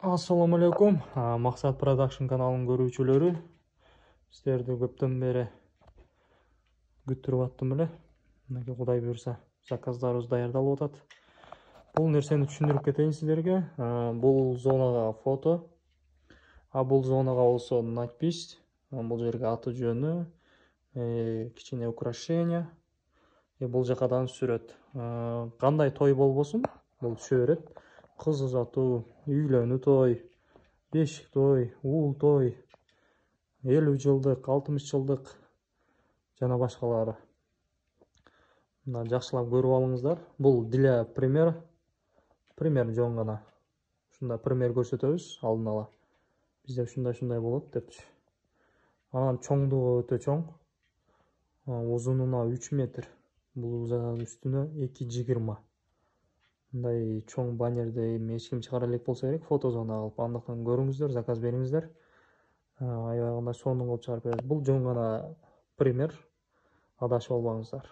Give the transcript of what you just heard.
Ассаламу алейкум. Максат Production каналынын көрүүчүлөрү. Сиздерди көптөн бери күттүрүп аттым эле. Мынакей Кудай буюрса, заказдарыбыз даярдалып атат. Бул нерсени түшүндүрүп кетейин сиздерге. Бул зонага фото, бул зонага болсо надпись. Бул жерге аты жөнү, кичине украшение. Бул жака дагы сүрөт. Кандай той болбосун, бул түшө берет. Кыз узатуу, үйлөнүү той, бешик той, уул той, 50 жылдык, 60 жылдык жана башкалары. Мына жакшылап көрүп алыңыздар. Бул для пример жон гана. Ушундай пример көрсөтөбүз алдын ала. Бизде ушундай болот депчи. Анан чоңдугу өтө чоң. Узунуна 3 метр. Бул үстүнө 2,20. Мындай чоң баннерди эч ким чыгара элек болсо керек, фотозона кылып. Андыктан көрүңүздөр, заказ бериңиздер. Аябай сонун кылып чыгарып берет. Бул жон гана пример. Адашып албаңыздар.